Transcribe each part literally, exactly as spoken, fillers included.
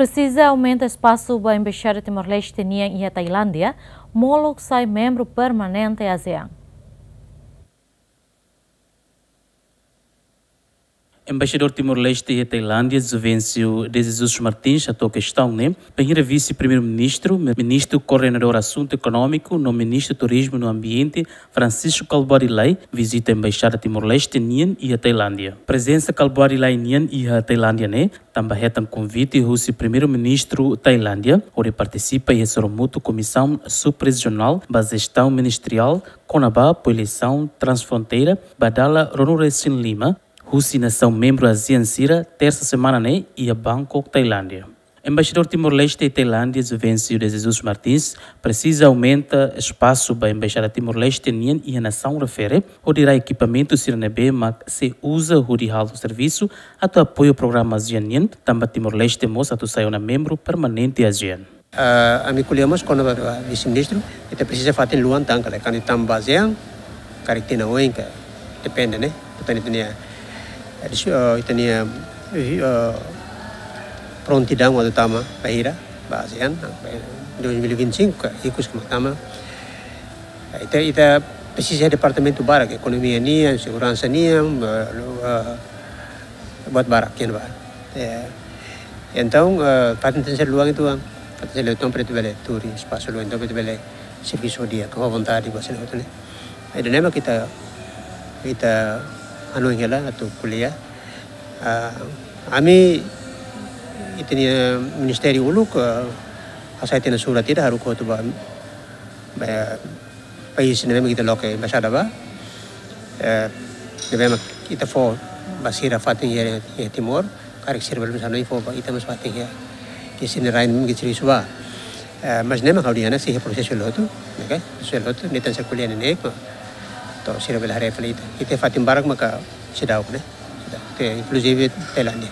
Presiza aumenta espasu ba Embaixada Timor-Leste nian iha Tailándia, molok sai membru permanente ASEAN. Embaixadór Timor-Leste iha Tailándia, Juvencio de Jesus Martins, hato'o kestaun ne'e bainhira Vise-Primeiru-Ministru, Ministru Koordenadór Asuntu Ekonómiku no Ministru Turizmu no Ambiente, Francisco Kalbuadi Lay, vizita Embaixada Timor-Leste nian iha Tailándia. Prezensa Kalbuadi Lay nian iha Tailándia ne'e tanba hetan konvite husi Primeiru-Ministru Tailándia hodi partisipa iha sorumutu Komisaun Sub-Rejionál ba Jestaun Ministeriál kona-ba Polisaun Transfronteira ba dala ruanulu-resin-lima husi nasaun membru ASEAN sira, tersa semana ne'e iha Bangkok, Tailándia. Embaixadór Timor-Leste iha Tailándia, Juvencio de Jesus Martins, presiza aumenta espasu ba Embaixada Timor-Leste nian iha nasaun refere, hodi rai ekipamentu sira ne'ebé mak sei uza hodi halo servisu atu apoiu programa ASEAN nian, tanba Timor-Leste mós atu sai ona membru permanente ASEAN. Ah, ami ko'alia mós kona-ba Vise-Ministru, ita presiza fatin luan tan kala, kan ita ba ASEAN, karik tinan oin ka, depende, ne'e? Ita-nia, ita-nia, eh, dis-, eh, ita-nia, eh, eh, prontidaun atu tama bainhira ba ASEAN, dois mil e vinte e cinco ka, ikus ka mak tama. Ita, ita presiza departamentu barak, ekonomia nian, seguransa nian, eh, eh, buat barak, kian ba. Eh, entaun, eh, fatin tenke ser luan uitoan, fatin tenke ser luan uitoan para ita bele tuur espasu luan uitoan para ita bele servisu di'ak, ho vontade, ba sini hotu ne'e. Ida-ne'e mak ita, ita hanoin hela atu ko'alia. Ah, ami, ita-nia ministériu uluk, ah, hasai tiha ona surat ida haruka hotu ba, ba país ne'ebé mak ita loke embaixada ba. Eh, ne'ebé mak ita fó ba sira fatin iha, iha Timor, karik sira bele mós hanoin fó ba ita mós fatin iha, iha sira-nia rain mak servisu ba. Eh, mas ne'e mak ha'u dehan ne'e sei iha prosesu hela hotu, ne'e ka? Prosesu hela hotu, ne'e tenke ser ko'alia neineik, to'o sira bele haree fali ita. Ita fatin barak maka seidauk, ne'e? Seidauk. Te, inkluzive Tailándia.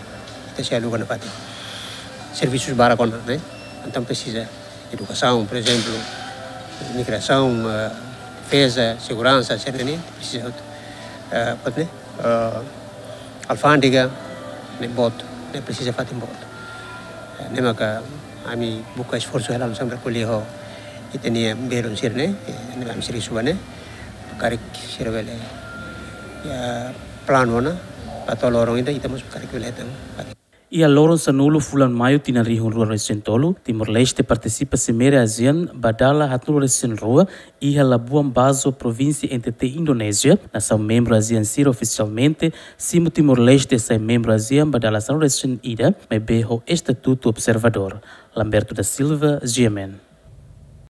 Ita sei aluga ona fatin. Servisus barak ona, ne'e? Entaun presiza edukasaun, por ezemplu, imigrasaun, eh, defeza, seguransa, sira-ne'e, presiza hotu. Eh, buat ne'e, eh, alfándega, ne'e boot, ne'e presiza fatin boot. Eh, ne'e maka ami buka esforsu hela hanesan ko'alia ho ita-nia belun sira-ne'e, eh, ne'e ami servisu ba ne'e, karik sira bele, ya, planu ona, ba to'o loron ida, ita mós karik bele hetan. Iha loron sanulu fulan Maiu tinan rihun rua resin tolu, Timor-Leste partisipa Simeira ASEAN ba dala haatnulu-resin-rua iha Labuan Bajo, provínsia N T T, Indonézia, nasaun membru ASEAN sira ofisialmente, simu Timor-Leste sai membru ASEAN ba dala sanulu-resin-ida, maibé ho estatutu observadór. Lamberto da Silva, G M N.